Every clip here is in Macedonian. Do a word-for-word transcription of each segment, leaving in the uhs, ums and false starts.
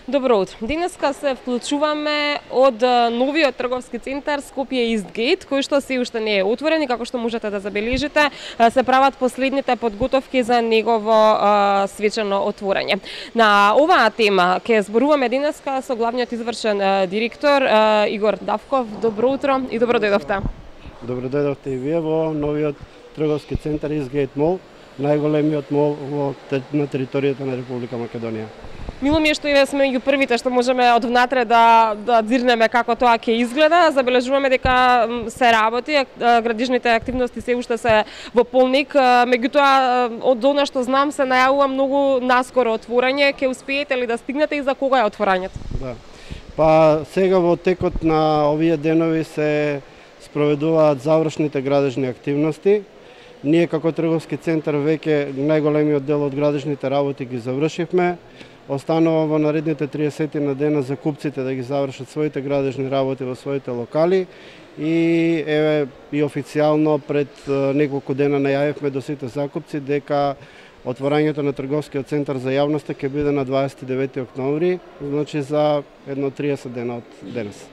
Добро утро. Денеска се вклучуваме од новиот трговски центар Скопје Истгейт, кој што се уште не е отворен и како што можете да забележите, се прават последните подготовки за негово а, свечено отворање. На оваа тема ќе зборуваме денеска со главниот извршен а, директор а, Игор Давков. Добро утро и добро дојдовте. Добро дојдовте и вие во новиот трговски центар Истгейт мол, најголемиот мол во, на територијата на Република Македонија. Мило ми е што и сме меѓу првите што можеме од внатре да да дзирнеме како тоа ќе изгледа. Забележуваме дека се работи, градижните активности се уште се во полник. Меѓутоа, од она што знам, се најавува многу наскоро отворање. Ќе успеете ли да стигнете и за кога е отворањето? Да. Па сега во текот на овие денови се спроведуваат завршните градежни активности. Ние како трговски центар веќе најголемиот дел од градежните работи ги завршивме. Останува во наредните триесет на дена за купците да ги завршат своите градежни работи во своите локали и еве и официјално пред неколку дена најавивме до сите закупци дека отворањето на трговскиот центар за јавноста ќе биде на дваесет и девети октомври, значи за едно триесет дена од денес.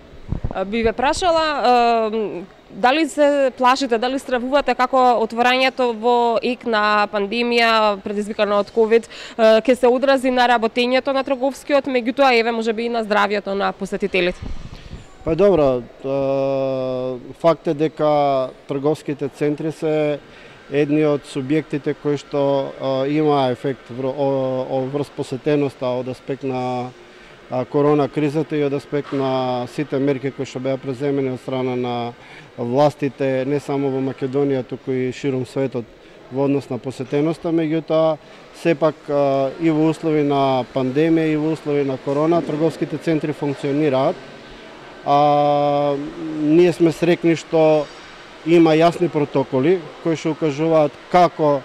Би ве прашала дали се плашите, дали стравувате како отворањето во ек на пандемија предизвикана од ковид ќе се одрази на работењето на трговскиот, меѓутоа еве можеби и на здравјето на посетителите? Па добро, факт е дека трговските центри се едни од субјектите кои што има ефект врз посетеноста од аспект на корона кризата и од аспект на сите мерки кои што беа преземени од страна на властите не само во Македонија, туку и широм светот во однос на посетеноста, меѓутоа сепак и во услови на пандемија и во услови на корона трговските центри функционираат. А, ние сме срекни што има јасни протоколи кои што укажуваат како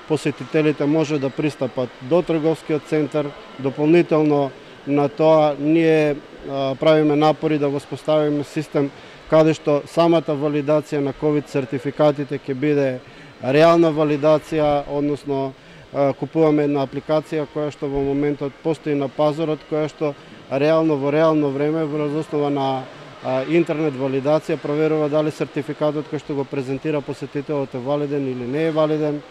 посетителите може да пристапат до трговскиот центар. Дополнително на тоа ние а, правиме напори да воспоставиме систем каде што самата валидација на ковид сертификатите ќе биде реална валидација, односно а, купуваме една апликација која што во моментот постои на пазарот, која што реално во реално време врз основа на а, интернет валидација проверува дали сертификатот кој што го презентира посетителот е валиден или не е валиден.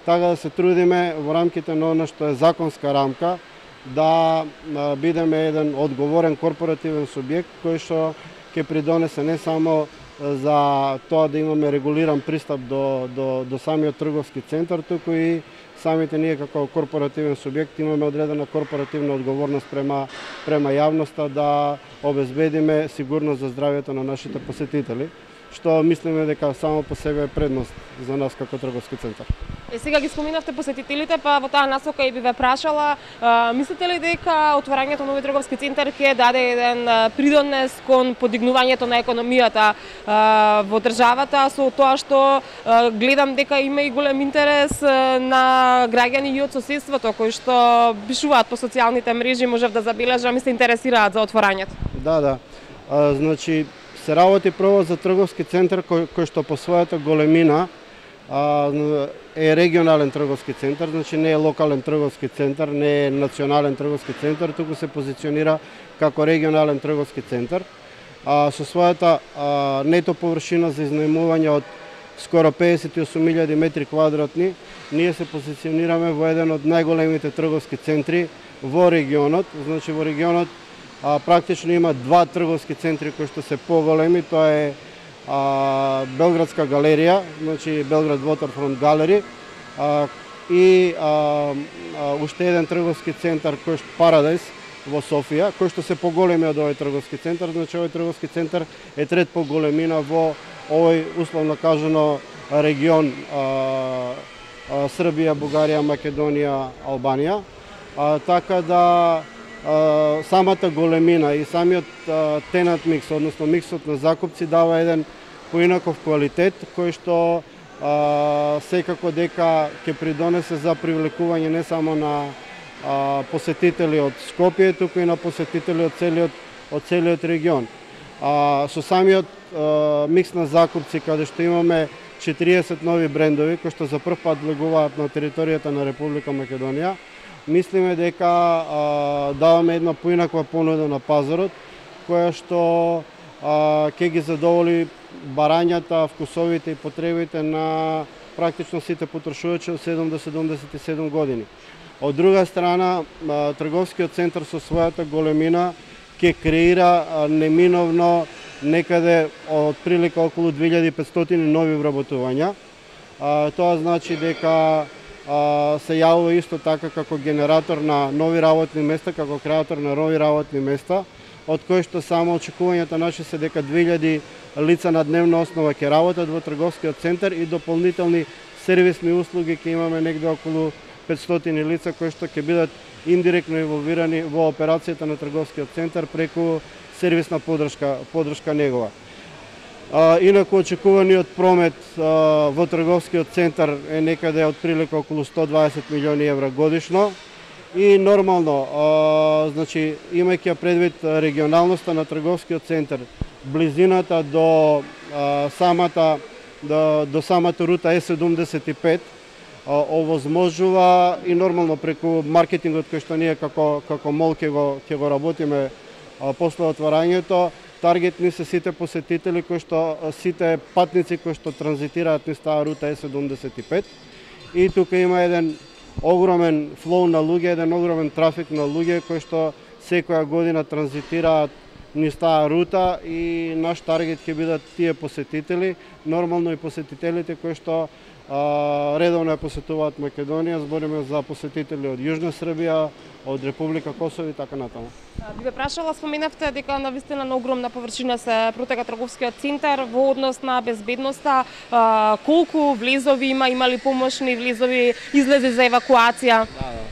Така да се трудиме во рамките на она што е законска рамка да а, бидеме еден одговорен корпоративен субјект кој што ќе придонесе не само за тоа да имаме регулиран пристап до, до, до самиот трговски центар, туку и самите ние како корпоративен субјект имаме одредена корпоративна одговорност према, према јавноста да обезбедиме сигурност за здравјето на нашите посетители, што мислиме дека само по себе е предност за нас како трговски центар. Е, сега ги споминавте посетителите, па во таа насока и би ве прашала, а, мислите ли дека отворањето на новиот трговски центар ќе даде еден придонес кон подигнувањето на економијата а, во државата, со тоа што а, гледам дека има и голем интерес а, на граѓани и од соседството кои што пишуваат по социјалните мрежи, можев да забележам и се интересираат за отворањето? Да, да. А, значи се работи прво за трговски центар кој, кој што по својата големина е регионален трговски центар, значи не е локален трговски центар, не е национален трговски центар, туку се позиционира како регионален трговски центар. А, со својата а, нето површина за изнајмување од скоро педесет и осум илјади метри квадратни, ние се позиционираме во еден од најголемите трговски центри во регионот. Значи во регионот а, практично има два трговски центри кои што се поголеми, тоа е А, Белградска галерија, значи Белград Waterfront Gallery, а, и а, а, уште еден трговски центар кој што Paradise во Софија, кој што се поголеми од овој трговски центар, значи овој трговски центар е трет по големина во овој условно кажано регион а, а, Србија, Бугарија, Македонија, Албанија, а, така да Uh, самата големина и самиот uh, тенант микс, односно миксот на закупци дава еден поинаков квалитет кој што uh, секако дека ќе придонесе за привлекување не само на uh, посетители од Скопје, туку и на посетители од целиот од целиот регион. Uh, со самиот uh, микс на закупци каде што имаме четириесет нови брендови кои што за прв пат влегуваат на територијата на Република Македонија, мислиме дека а, даваме една поинаква понуда на пазарот, која што а, ќе ги задоволи барањата, вкусовите и потребите на практично сите потрошувачи од седум до седумдесет и седум години. Од друга страна, а, трговскиот центар со својата големина ќе креира неминовно некаде од прилика околу две илјади и петстотини нови вработувања. А, тоа значи дека а, се јавува исто така како генератор на нови работни места, како креатор на нови работни места, од кои што само очекувањата наши се дека две илјади лица на дневна основа ќе работат во трговскиот центар и дополнителни сервисни услуги ќе имаме негде околу петстотини лица кои што ќе бидат индиректно инволвирани во операцијата на трговскиот центар преку сервисна подршка, подршка негова. А, инаку очекуваниот промет а, во трговскиот центар е некаде од прилика околу сто дваесет милиони евра годишно и нормално, а, значи имајќи предвид регионалноста на трговскиот центар, близината до а, самата до, до самата рута Е седумдесет и пет овозможува и нормално преку маркетингот кој што ние како како мол ќе го ќе го работиме а, после отварањето. Таргетни се сите посетители кои што сите патници кои што транзитираат низ таа рута Е седумдесет и пет. И тука има еден огромен флоу на луѓе, еден огромен трафик на луѓе кои што секоја година транзитираат низ таа рута и наш таргет ќе бидат тие посетители, нормално и посетителите кои што а, редовно ја посетуваат Македонија, збориме за посетители од Јужна Србија, од Република Косово и така натаму. Би ве прашала, споменавте дека навистина на огромна површина се протега трговскиот центар во однос на безбедноста, а, колку влезови има, има ли помошни влезови, излези за евакуација? Да, да.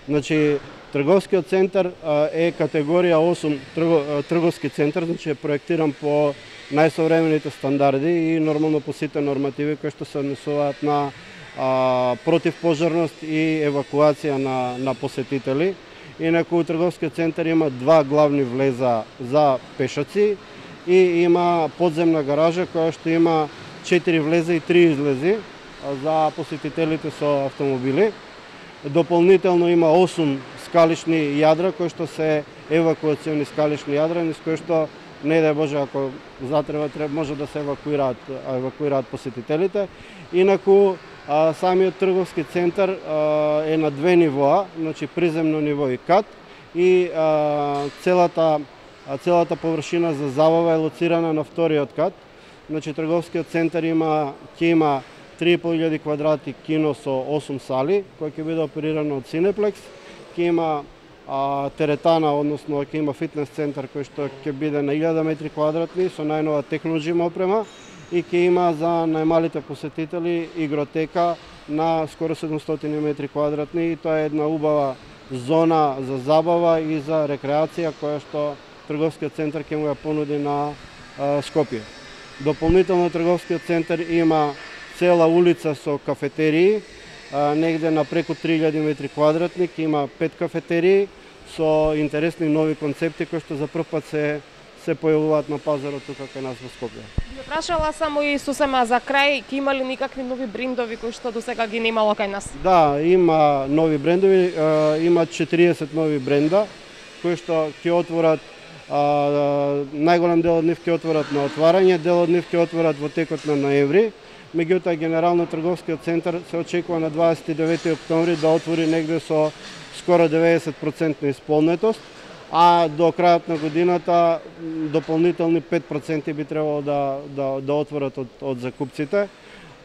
Значи, трговскиот центар а, е категорија осум трго, трговски центар, значи е проектиран по најсовремените стандарди и нормално по сите нормативи кои што се однесуваат на а, противпожарност и евакуација на, на посетители. Инаку трговскиот центар има два главни влеза за пешаци и има подземна гаража која што има четири влеза и три излези за посетителите со автомобили. Дополнително има осум скалишни јадра кои што се евакуациони скалишни јадра, низ кои што не дај Боже ако затреба треба може да се евакуираат евакуираат посетителите. Инаку а, самиот трговски центар а, е на две нивоа, значи приземно ниво и кат и а, целата а, целата површина за забава е лоцирана на вториот кат. Значи трговскиот центар има ќе има три и пол илјади квадрати кино со осум сали, кој ќе биде оперирано од Cineplex, ќе има а, теретана, односно ќе има фитнес центар кој што ќе биде на илјада метри квадратни со најнова технолоджим опрема и ќе има за најмалите посетители игротека на скоро седумстотини метри квадратни и тоа е една убава зона за забава и за рекреација која што трговскиот центар ќе му ја понуди на а, Скопје. Дополнително трговскиот центар има цела улица со кафетерии, а, негде на преку три илјади метри квадратни, има пет кафетерии со интересни нови концепти кои што за прв пат се се појавуваат на пазарот тука кај нас во Скопје. Би прашала само и сосема за крај, ќе има ли никакви нови брендови кои што досега ги немало кај нас? Да, има нови брендови, а, има четириесет нови бренда кои што ќе отворат. А, најголем дел од нив ќе отворат на отварање, дел од нив ќе отворат во текот на ноември. Меѓутоа генерално трговскиот центар се очекува на дваесет и девети октомври да отвори негде со скоро деветдесет проценти исполнетост, а до крајот на годината дополнителни пет проценти би требало да да да отворат од од закупците.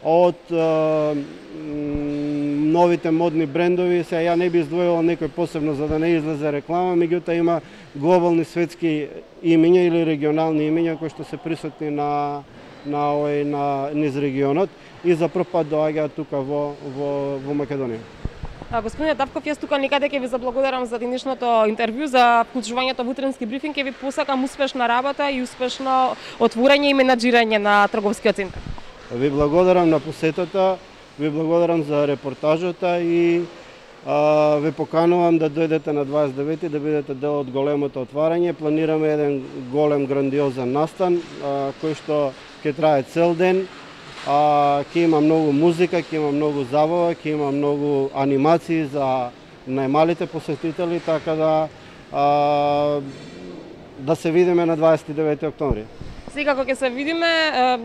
Од е, новите модни брендови, се ја не би издвоила некој посебно за да не излезе реклама, меѓутоа има глобални светски имиња или регионални имиња кои што се присутни на на овој на низ регионот и за прв пат доаѓаат тука во во во Македонија. А, господине Давков, јас тука никаде ќе ви заблагодарам за денешното интервју, за вклучувањето во утренски брифинг, ќе ви посакам успешна работа и успешно отворање и менаџирање на трговскиот центар. Ви благодарам на посетата, ви благодарам за репортажата и а, ви поканувам да дојдете на дваесет и девети да бидете дел од големото отварање. Планираме еден голем грандиозен настан а, кој што ќе трае цел ден. А, ќе има многу музика, ќе има многу забава, ќе има многу анимации за најмалите посетители, така да а, да се видиме на дваесет и девети октомври. Секако ќе се видиме.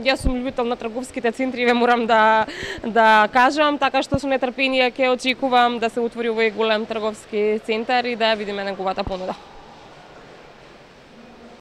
Јас сум љубител на трговските центри, ве морам да да кажам, така што со нетрпение ќе очекувам да се отвори овој голем трговски центар и да ја видиме неговата понуда.